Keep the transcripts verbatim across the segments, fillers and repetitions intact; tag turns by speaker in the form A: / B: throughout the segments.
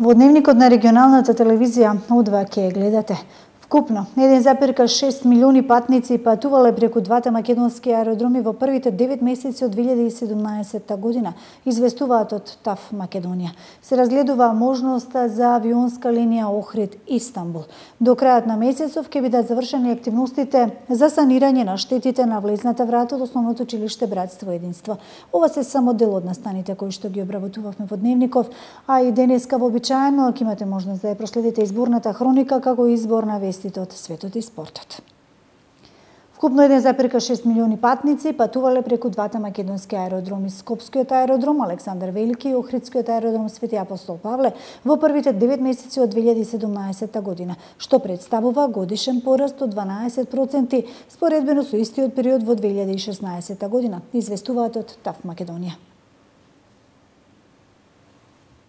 A: Во дневникот на регионалната телевизија О два ќе гледате. Вкупно еден зарез шест милиони патници патувале преку двата македонски аеродроми во првите девет месеци од две илјади и седумнаесетта година, известуваат од ТАФ Македонија. Се разгледува можноста за авионска линија Охрид-Истанбул. До крајот на месецов ќе бидат завршени активностите за санирање на штетите на влезната врата од основното училиште Братство и единство. Ова се само дел од настаните кои што ги обработувавме во дневников, а и денеска вообичаено ќе имате можност да ја проследите изборната хроника како и избор на вести од светот и спортот. Вкупно еден зарез шест милиони патници патувале преку двата македонски аеродроми, Скопскиот аеродром Александар Велики и Охридскиот аеродром Свети Апостол Павле во првите девет месеци од две илјади и седумнаесетта година, што представува годишен пораст од дванаесет проценти споредбено со истиот период во две илјади и шеснаесетта година, известуваат од ТАФ Македонија.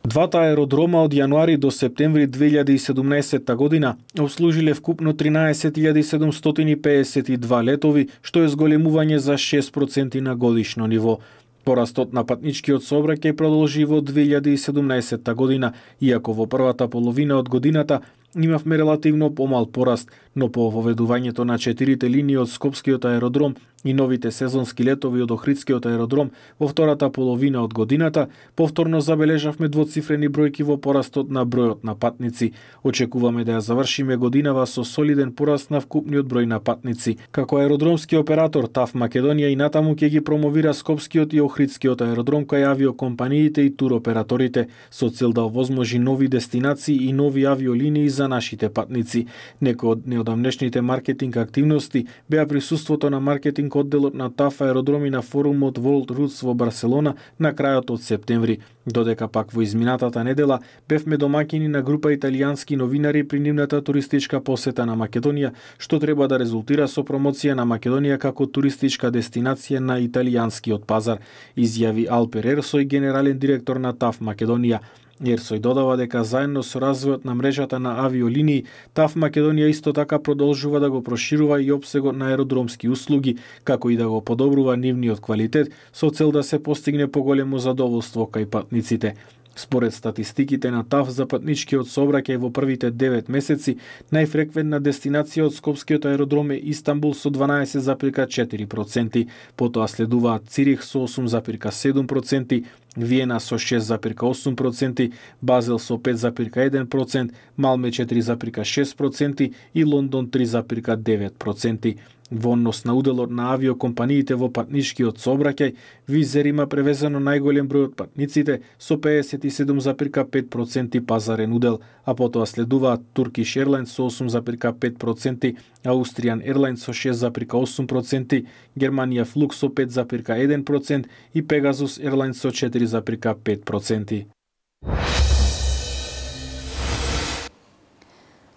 B: Двата аеродрома од јануари до септември две илјади и седумнаесетта година обслужиле вкупно тринаесет илјади седумстотини пеесет и два летови, што е зголемување за шест проценти на годишно ниво. Порастот на патничкиот сообраќај продолжи во две илјади и седумнаесетта година, иако во првата половина од годината имавме релативно помал пораст, но по воведувањето на четирите линии од Скопскиот аеродром и новите сезонски летови од Охридскиот аеродром во втората половина од годината, повторно забележавме двоцифрени бројки во порастот на бројот на патници. Очекуваме да ја завршиме годинава со солиден пораст на вкупниот број на патници. Како аеродромски оператор ТАФ Македонија и натаму ќе ги промовира Скопскиот и Охридскиот аеродром кај авиокомпаниите и туроператорите со цел да овозможи нови дестинации и нови авиолинии за нашите патници. Некои од неодамнешните маркетинг активности беа присуството на маркетинг одделот на ТАФ аеродроми на форумот World Routes во Барселона на крајот од септември, додека пак во изминатата недела бевме домаќини на група италијански новинари при нивната туристичка посета на Македонија, што треба да резултира со промоција на Македонија како туристичка дестинација на италијанскиот пазар, изјави Алпер Ерсој, генерален директор на ТАФ Македонија. Ерсој додава дека заедно со развојот на мрежата на авиолинии, ТАФ Македонија исто така продолжува да го проширува и опсегот на аеродромски услуги, како и да го подобрува нивниот квалитет со цел да се постигне поголемо задоволство кај патниците. Според статистиките на ТАФ за патничкиот сообраќај во првите девет месеци, најфреквентна дестинација од Скопскиот аеродром е Истанбул со дванаесет зарез четири проценти, потоа следуваат Цирих со осум зарез седум проценти, Виена со шест зарез осум проценти, Базел со пет зарез еден процент, Малме четири зарез шест проценти и Лондон три зарез девет проценти. Во однос на уделот на авиокомпаниите во патничкиот сообраќај, Визер има превезено најголем број од патниците со пеесет и седум зарез пет проценти пазарен удел, а потоа следуваат Turkish Airlines со осум зарез пет проценти, Austrian Airlines со шест зарез осум проценти, Германија Флук со пет зарез еден процент и Pegasus Airlines со четири зарез пет проценти.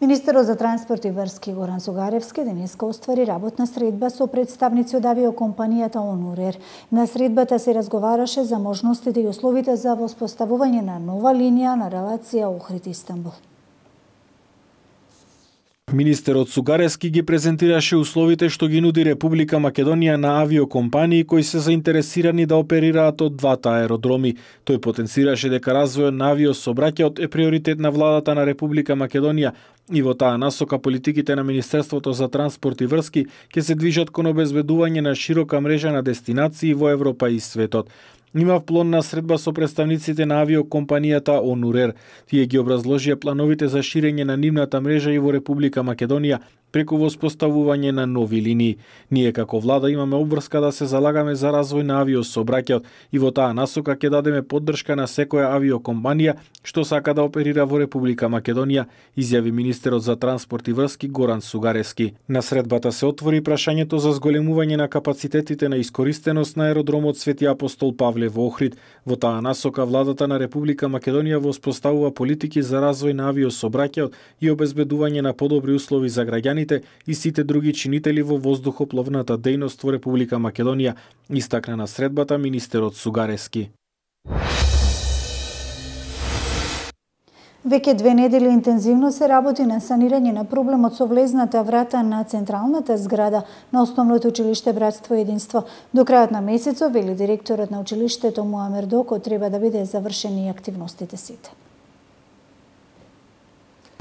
A: Министерот за транспорт и врски Горан Сугаревски денеска оствари работна средба со представници од авиокомпанијата Онурер. На средбата се разговараше за можностите и условите за воспоставување на нова линија на релација Охрид-Истанбул.
B: Министерот Сугаревски ги презентираше условите што ги нуди Република Македонија на авиокомпании кои се заинтересирани да оперираат од двата аеродроми. Тој потенцираше дека развојот на авиосообраќајот е приоритет на владата на Република Македонија и во таа насока политиките на Министерството за транспорт и врски ќе се движат кон обезбедување на широка мрежа на дестинации во Европа и светот. Имав плодна средба со представниците на авиокомпанијата Онурер. Тие ги образложија плановите за ширење на нивната мрежа и во Република Македонија преку воспоставување на нови линии. Ние како влада имаме обврска да се залагаме за развој на авиосообраќајот и во таа насока ќе дадеме поддршка на секоја авиокомпанија што сака да оперира во Република Македонија, изјави министерот за транспорт и врски Горан Сугаревски. На средбата се отвори прашањето за зголемување на капацитетите на искористеност на аеродромот Свети Апостол Павле во Охрид. Во таа насока владата на Република Македонија воспоставува политики за развој на авиосообраќајот и обезбедување на подобри услови за граѓани и сите други чинители во воздухопловната дејност во Република Македонија, истакна на средбата министерот Сугаревски.
A: Веќе две недели интензивно се работи на санирање на проблемот со влезната врата на централната зграда на основното училиште Братство и единство. До крајот на месецот, вели директорот на училиштето Муамер Доко, треба да биде завршени активностите сите.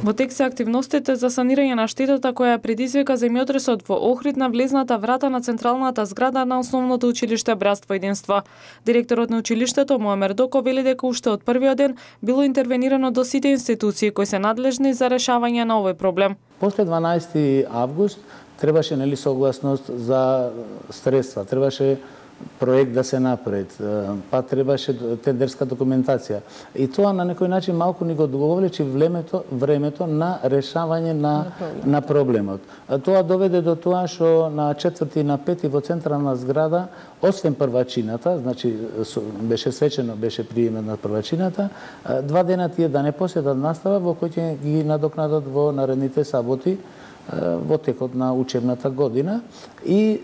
C: Во тек се активностите за санирање на штетата која предизвика земјотресот во Охрид на влезната врата на централната зграда на основното училиште Братство единство. Директорот на училиштето Муамер Доко вели дека уште од првиот ден било интервенирано до сите институции кои се надлежни за решавање на овој проблем.
D: После дванаесети август требаше нели согласност за средства, требаше проект да се напред, па требаше тендерска документација. И тоа на некој начин малку ни го одговлечи времето, времето на решавање на, на проблемот. Тоа доведе до тоа што на четврти и на пети во централна зграда, освен првачината, значи беше свечено, беше приемен на првачината, два дена тие да не поседат настава во кој ќе ги надокнадат во наредните саботи во текот на учебната година. И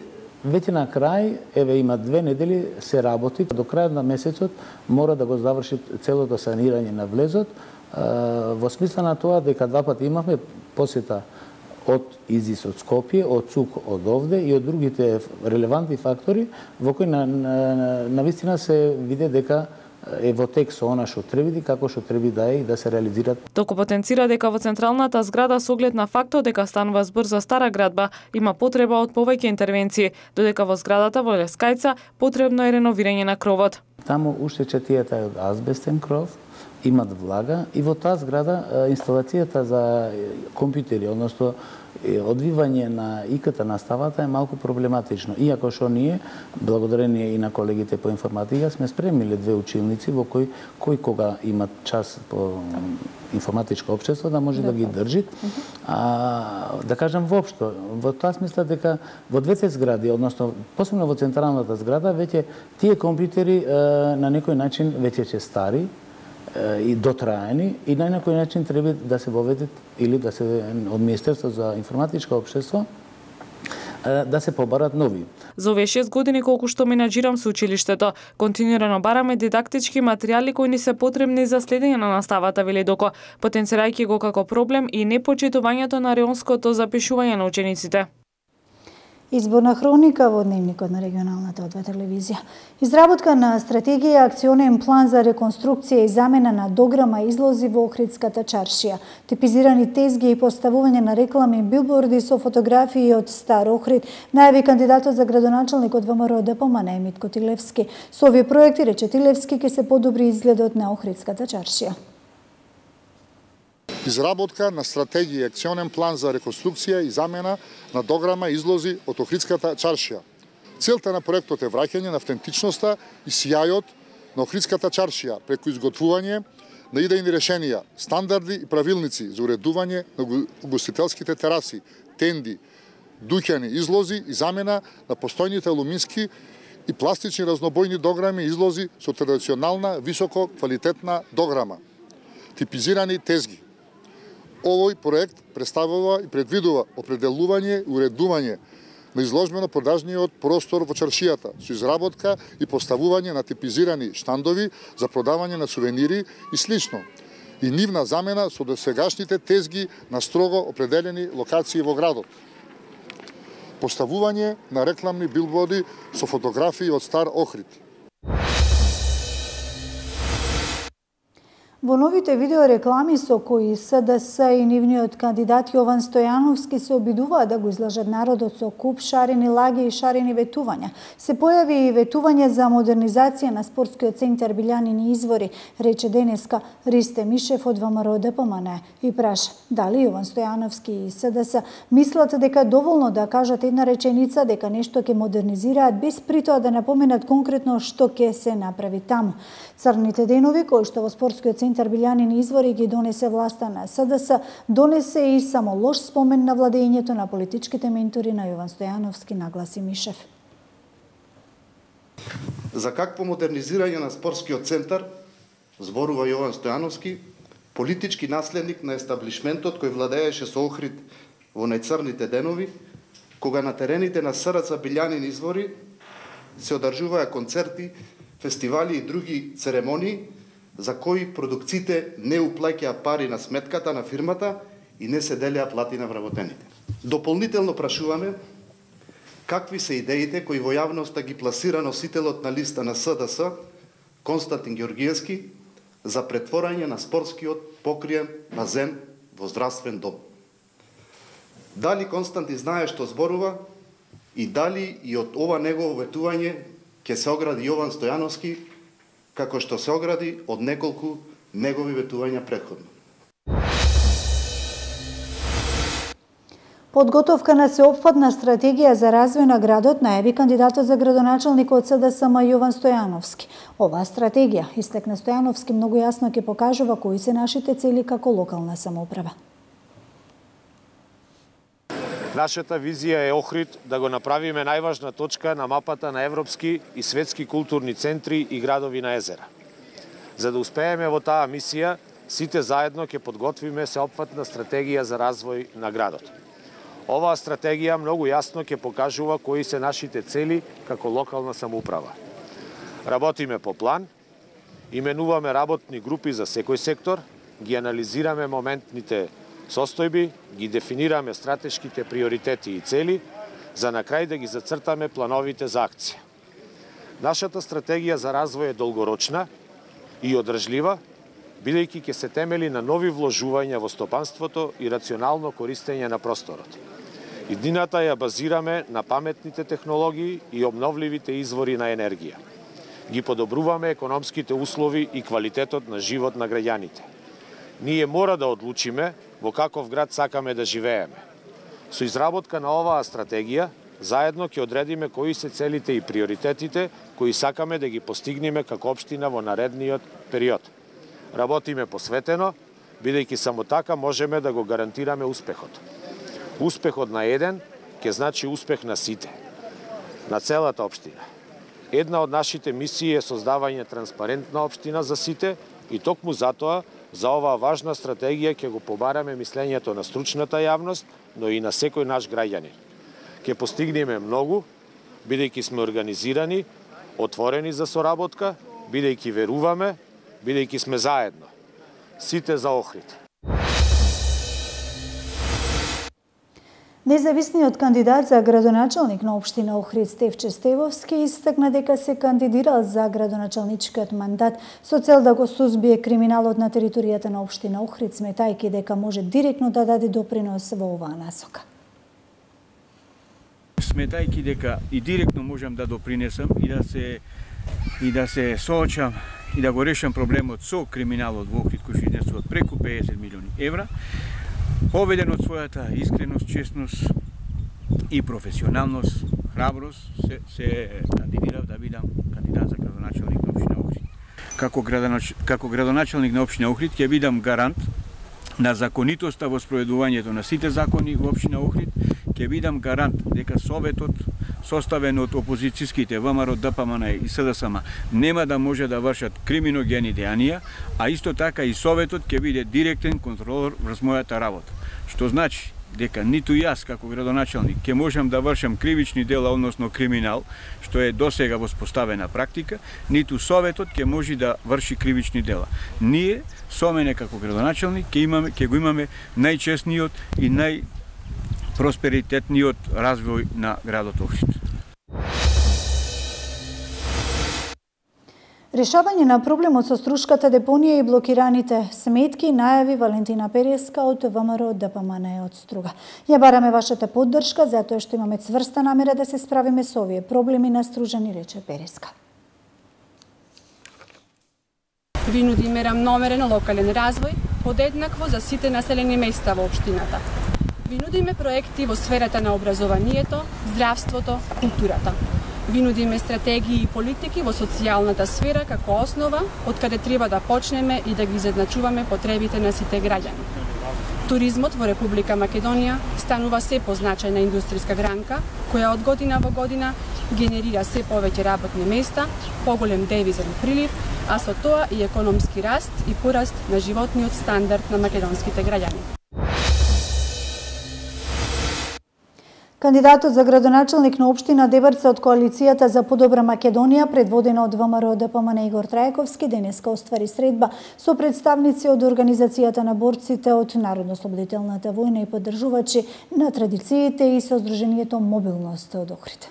D: веќе на крај, еве има две недели, се работи. До крајот на месецот мора да го заврши целото санирање на влезот, во смисла на тоа дека два пати имавме посета од ИЗИС од Скопје, од ЦУК од овде и од другите релевантни фактори, во кои на, на, на вистина се виде дека е во тек со она што треби, како што треби да е и да се реализират.
C: Току потенцира дека во централната зграда со оглед на фактот дека станува збор за стара градба, има потреба од повеќе интервенции, додека во зградата во Лескајца потребно е реновирање на кровот.
D: Таму уште четијата е од азбестен кров, имат влага и во таа зграда инсталацијата за компјутери, односно одвивање на ИКТ наставата е малку проблематично. Иако што ние, благодарение и на колегите по информатика, сме спремниле две училници во кои, кои кога имат час по информатичко општество да може да, да ги држи. А, да кажам воопшто, во тоа смисла дека во двете згради, односно посебно во централната зграда, веќе тие компјутери на некој начин веќе се стари и дотраени и на некој начин треба да се воведат или да се од Министерството за информатичко општество да се побарат нови.
C: За овие шест години колку што менаџирам со училиштето, континуирано бараме дидактички материјали кои ни се потребни за следење на наставата, вели Доко, потенцирајќи го како проблем и непочитувањето на реонското запишување на учениците.
A: Изборна хроника во дневникот на регионалната О две телевизија. Изработка на стратегија, акционен план за реконструкција и замена на дограма излози во Охридската чаршија. Типизирани тезги и поставување на реклами и билборди со фотографии од Стар Охрид, најави кандидатот за градоначалник од ВМРО Д П М Н Митко Тилевски. Со овие проекти, рече Тилевски, ќе се подобри изгледот на Охридската чаршија.
E: Изработка на стратегија и акционен план за реконструкција и замена на дограма излози од Охридската чаршија. Целта на проектот е враќање на автентичноста и сијајот на Охридската чаршија преку изготвување на идејни решенија, стандарди и правилници за уредување на угостителските тераси, тенди, дуќани излози и замена на постојните алумински и пластични разнобојни дограми излози со традиционална високо квалитетна дограма. Типизирани тезги. Овој проект представува и предвидува определување и уредување на изложбено-продажниот простор во чаршијата со изработка и поставување на типизирани штандови за продавање на сувенири и слично, и нивна замена со досегашните тезги на строго определени локации во градот. Поставување на рекламни билборди со фотографии од Стар Охрид.
A: Во новите видеореклами со кои С Д С и нивниот кандидат Јован Стојановски се обидуваат да го излажат народот со куп шарени лаги и шарени ветувања. Се појави и ветување за модернизација на спортскиот центар Билјанини извори, рече денеска Ристе Мишев од ВМРО Д П М Н и праша дали Јован Стојановски и С Д С мислат дека е доволно да кажат една реченица дека нешто ќе модернизираат без притоа да напоменат конкретно што ќе се направи таму. Црните денови кои што во спортскиот центар Билјанини извори ги донесе власта на С Д С, донесе и само лош спомен на владењето на политичките ментори на Јован Стојановски, нагласи Мишев.
F: За какво модернизирање на спортскиот центар зборува Јован Стојановски, политички наследник на естаблишментот кој владееше со Охрид во најцрните денови, кога на терените на С Р Ц Билјанини извори се одржуваа концерти, фестивали и други церемонии за кои продукциите не уплаќаа пари на сметката на фирмата и не се делеа плати на вработените. Дополнително прашуваме какви се идеите кои во јавноста ги пласира носителот на листа на С Д С Константин Ѓоргиевски за претворање на спортскиот покриен базен во здравствен дом. Дали Константи знае што зборува и дали и од ова негово ветување ќе се огради Јован Стојановски, како што се огради од неколку негови ветувања претходно.
A: Подготовка на сеопфатна стратегија за развој на градот најави кандидатот за градоначалник од СДСМ Јован Стојановски. Оваа стратегија, истекна Стојановски, многу јасно ќе покажува кои се нашите цели како локална самоуправа.
G: Нашата визија е Охрид да го направиме најважна точка на мапата на европски и светски културни центри и градови на езера. За да успееме во таа мисија, сите заедно ќе подготвиме сеопфатна стратегија за развој на градот. Оваа стратегија многу јасно ќе покажува кои се нашите цели како локална самоуправа. Работиме по план, именуваме работни групи за секој сектор, ги анализираме моментните состојби, ги дефинираме стратешките приоритети и цели, за на крај да ги зацртаме плановите за акција. Нашата стратегија за развој е долгорочна и одржлива, бидејќи ќе се темели на нови вложувања во стопанството и рационално користење на просторот. Иднината ја базираме на паметните технологии и обновливите извори на енергија. Ги подобруваме економските услови и квалитетот на живот на граѓаните. Ние мора да одлучиме во каков град сакаме да живееме. Со изработка на оваа стратегија, заедно ќе одредиме кои се целите и приоритетите кои сакаме да ги постигнеме како општина во наредниот период. Работиме посветено, бидејќи само така можеме да го гарантираме успехот. Успехот на еден ќе значи успех на сите, на целата општина. Една од нашите мисии е создавање транспарентна општина за сите и токму затоа за оваа важна стратегија ќе го побараме мислењето на стручната јавност, но и на секој наш граѓанин. Ќе постигнеме многу, бидејќи сме организирани, отворени за соработка, бидејќи веруваме, бидејќи сме заедно. Сите за Охрид.
A: Независниот кандидат за градоначалник на општина Охрид Стефче Стевовски истакна дека се кандидирал за градоначалничкиот мандат со цел да го сузбие криминалот на територијата на општина Охрид, сметајќи дека може директно да даде допринос во оваа насока.
H: Сметајќи дека и директно можам да допринесам и да се и да се соочам и да го решам проблемот со криминалот во Охрид кој изнесува преку педесет милиони евра, поведен од својата искреност, честност и професионалност, храброст, се, се кандидирав да бидам кандидат за градоначалник на општина Охрид. Како, градонач... како градоначалник на општина Охрид ќе бидам гарант на законитоста во спроведувањето на сите закони во општина Охрид, ќе бидам гарант дека советот составен од опозицијските ВМРО, ДПМН и СДСМ нема да може да вршат криминогени дејанија, а исто така и советот ќе биде директен контролор врз мојата работа. Што значи дека ниту јас како градоначалник ќе можам да вршам кривични дела, односно криминал, што е досега воспоставена практика, ниту советот ќе може да врши кривични дела. Ние со мене како градоначалник ќе имаме ќе го имаме најчестниот и нај просперитетниот развој на градот Охрид.
A: Решавање на проблемот со струшката депонија и блокираните сметки најави Валентина Переска од ВМРО ДПМН од Струга. Ја бараме вашата поддршка затоа што имаме цврста намера да се справиме со овие проблеми на Стружани, рече Переска.
I: Ви нудиме рамномерен локален развој, подеднакво за сите населени места во општината. Ви нудиме проекти во сферата на образованието, здравството, културата. Ви нудиме стратегии и политики во социјалната сфера како основа од каде треба да почнеме и да ги изедначуваме потребите на сите граѓани. Туризмот во Република Македонија станува се позначајна индустријска гранка, која од година во година генерира се повеќе работни места, поголем девизен прилив, а со тоа и економски раст и пораст на животниот стандард на македонските граѓани.
A: Кандидатот за градоначалник на општина Дебарца од коалицијата за подобра Македонија, предводена од ВМРО ДПМН Игор Трајковски, денеска оствари средба со представници од Организацијата на борците од Народно-ослободителната војна и поддржувачи на традициите и со Сдруженијето Мобилност од Охрид.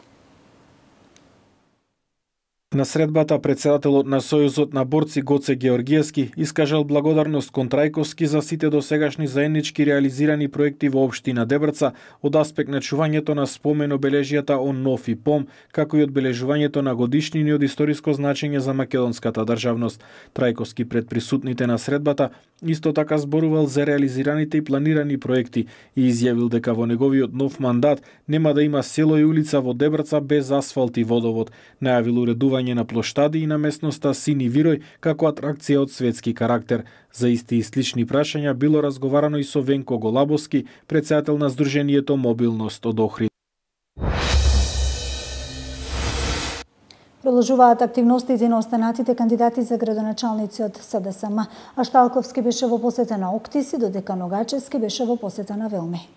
B: На средбата председателот на Сојузот на борци Гоце Георгиевски искажал благодарност кон Трајковски за сите досегашни заеднички реализирани проекти во општина Дебрца од аспект на чувањето на спомен обележјата он Нов и Пом, како и одбележувањето на годишнини од историско значење за македонската државност. Трајковски пред присутните на средбата исто така зборувал за реализираните и планирани проекти и изјавил дека во неговиот нов мандат нема да има село и улица во Дебрца без асфалт и водовод. Најавил уредување на плоштади и на местноста Сини Вирој како атракција од светски карактер. За исти и слични прашања било разговарано и со Венко Голабовски, председател на Сдруженијето Мобилност од Охрид.
A: Продолжуваат активностите на останатите кандидати за градоначалници од СДСМ. Ашталковски беше во посета на Октиси, додека Ногачевски беше во посета на Велми.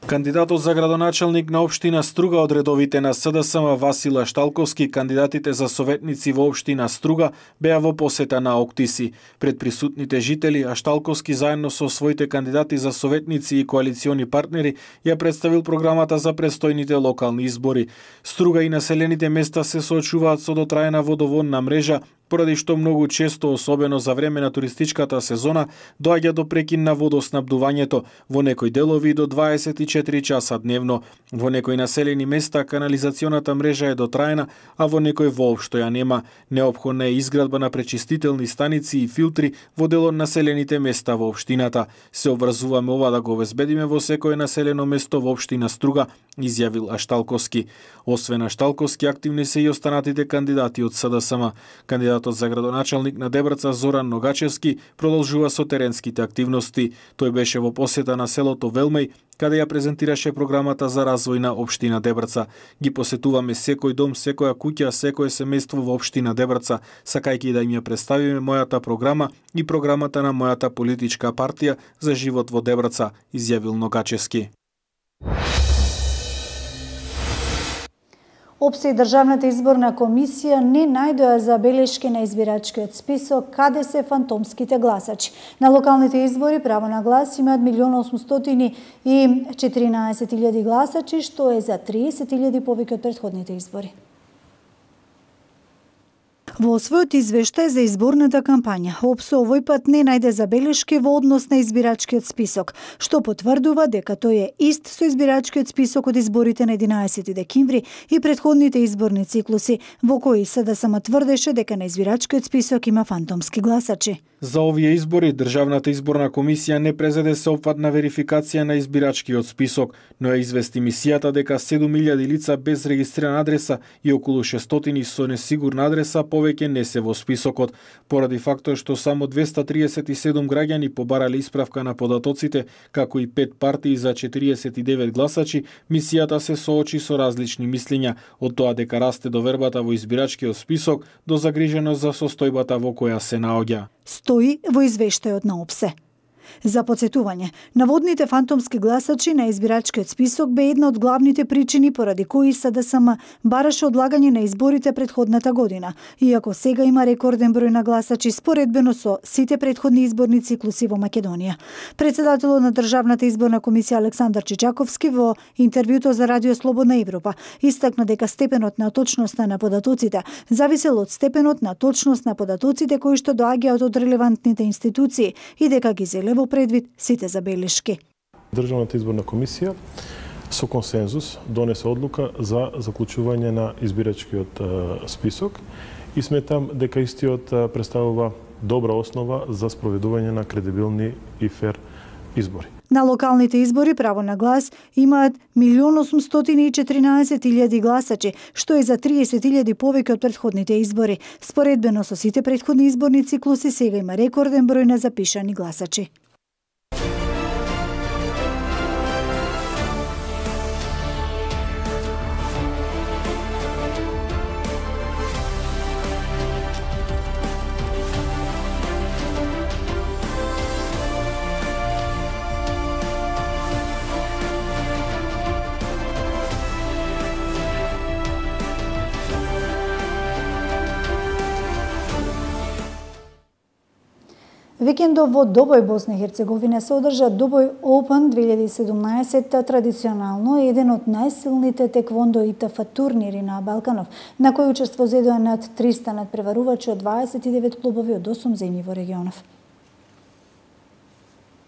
B: Кандидатот за градоначалник на општина Струга од редовите на СДСМ Васил Ашталковски, кандидатите за советници во општина Струга беа во посета на Октиси. Пред присутните жители, Ашталковски заедно со своите кандидати за советници и коалициони партнери ја представил програмата за престојните локални избори. Струга и населените места се соочуваат со дотраена водоводна мрежа, поради што многу често, особено за време на туристичката сезона, доаѓа до прекин на водоснабдувањето, во некои делови до дваесет и четири часа дневно. Во некои населени места канализационата мрежа е дотраена, а во некои воопшто ја нема. Неопходна е изградба на пречистителни станици и филтри во дел од населените места во општината. Се обврзуваме ова да го обезбедиме во секое населено место во општина Струга, изјавил Ашталковски. Освен Ашталковски, активни се и останатите кандидати од СДСМ. Кандидатот за градоначалник на Дебрца Зоран Ногачевски продолжува со теренските активности. Тој беше во посета на селото Велмеј, каде ја презентираше програмата за развој на општина Дебрца. Ги посетуваме секој дом, секоја куќа, секое семејство во општина Дебрца, сакајќи да им ја представиме мојата програма и програмата на мојата политичка партија за живот во Дебрца, изјавил Ногачевски.
A: ОПСЕ и Државната изборна комисија не најдоа забелешки на избирачкиот список каде се фантомските гласачи. На локалните избори право на глас имаат милион осумстотини и четиринаесет илјади гласачи, што е за триесет илјади повеќе од претходните избори. Во својот извештај за изборната кампања, ОПСЕ овој пат не најде забелешки во однос на избирачкиот список, што потврдува дека тој е ист со избирачкиот список од изборите на единаесети декември и претходните изборни циклуси, во кои СДСМ тврдеше дека на избирачкиот список има фантомски гласачи.
B: За овие избори, Државната изборна комисија не презеде сеопфатна верификација на избирачкиот список, но ја извести мисијата дека седум илјади лица без регистрирана адреса и околу шестстотини со несигурна адреса повеќе не се во списокот, поради фактот што само двеста триесет и седум граѓани побарале исправка на податоците, како и пет партии за четириесет и девет гласачи. Мисијата се соочи со различни мислења, од тоа дека расте довербата во избирачкиот список до загриженост за состојбата во која се наоѓа.
A: Стои во извештајот на ОПСЕ. За подсетување, наводните фантомски гласачи на избирачкиот список бе една од главните причини поради кои СДСМ бараше одлагање на изборите претходната година, иако сега има рекорден број на гласачи споредбено со сите претходни изборни циклуси во Македонија. Председателот на Државната изборна комисија Александар Чичаковски во интервјуто за Радио Слободна Европа истакна дека степенот на точноста на податоците зависел од степенот на точност на податоците кои што доаѓаат од релевантните институции и дека ги зеле во предвид сите забелешки.
J: Државната изборна комисија со консензус донесе одлука за заклучување на избирачкиот список и сметам дека истиот представува добра основа за спроведување на кредибилни и фер избори.
A: На локалните избори право на глас имаат милион осумстотини и четиринаесет илјади гласачи, што е за триесет илјади повеќе од претходните избори. Споредбено со сите претходни изборни циклуси сега има рекорден број на запишани гласачи. Викендов во Добој, Босна и Херцеговина се одржа Добој Open две илјади и седумнаесет, традиционално еден од најсилните теквондо и ТФ турнири на Балканов, на кој учество зедоа над триста надпреварувачи од дваесет и девет клубови од осум земји во регионов.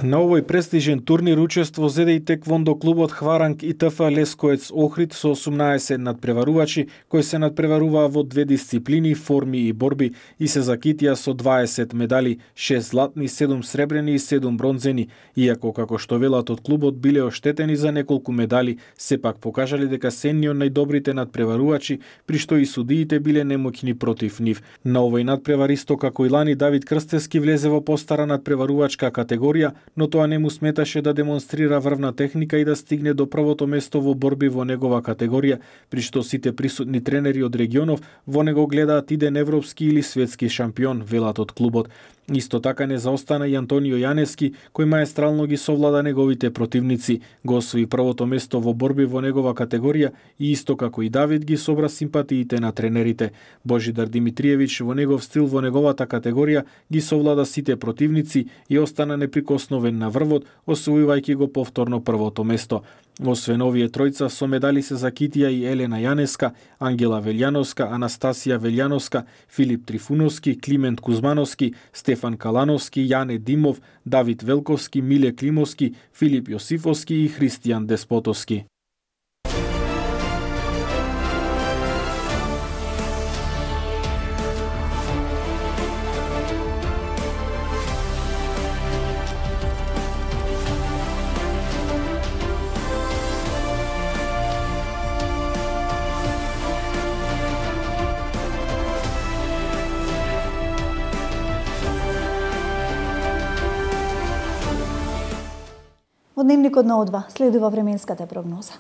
B: На овој престижен турнир учество зеде и теквондо клубот Хваранг и ТФ Лескоец Охрид со осумнаесет надпреварувачи кои се надпреваруваа во две дисциплини, форми и борби, и се закитија со дваесет медали, шест златни, седум сребрени и седум бронзени. Иако, како што велат од клубот, биле оштетени за неколку медали, сепак покажале дека се едни од најдобрите надпреварувачи, при што и судиите биле немоќни против нив. На овој надпревар исто како и лани, Давид Крстевски влезе во постара надпреварувачка категорија, но тоа не му сметаше да демонстрира врвна техника и да стигне до првото место во борби во негова категорија, при што сите присутни тренери од регионов во него гледаат иден европски или светски шампион, велат од клубот. Исто така не заостана и Антонио Јанески, кој маестрално ги совлада неговите противници, го освои првото место во борби во негова категорија и исто како и Давид ги собра симпатиите на тренерите. Божидар Димитриевиќ во негов стил во неговата категорија ги совлада сите противници и остана неприкосновен на врвот, освојувајќи го повторно првото место. Освен овие тројца, со медали се закитија и Елена Јанеска, Ангела Велјановска, Анастасија Велјановска, Филип Трифуновски, Климент Кузмановски, Стефан Калановски, Јане Димов, Давид Велковски, Миле Климовски, Филип Јосифовски и Христијан Деспотовски.
A: Од дневникот на О два следува временската прогноза.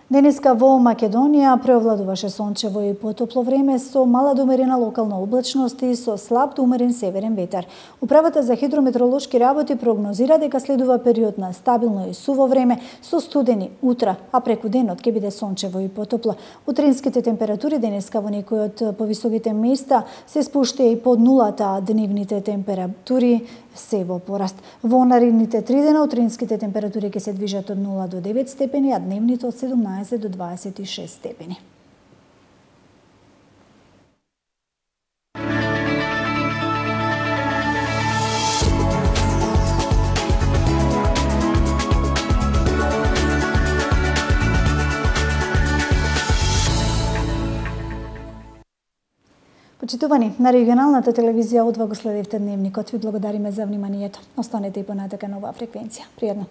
A: Денеска во Македонија преовладуваше сончево и потопло време со мала до умерена локална облачност и со слаб до умерен северен ветар. Управата за хидрометеоролошки работи прогнозира дека следува период на стабилно и суво време со студени утра, а преку денот ќе биде сончево и потопло. Утринските температури денеска во некои од повисоките места се спуштија и под нулата, а дневните температури се во пораст. Во наредните три дена утринските температури ќе се движат од нула до девет степени, а дневните од седумнаесет до дваесет и шест степени. Почитувани, на регионалната телевизија О два го следевте дневникот. Ви благодариме за вниманието. Останете и понатака на оваа фреквенција. Пријатно.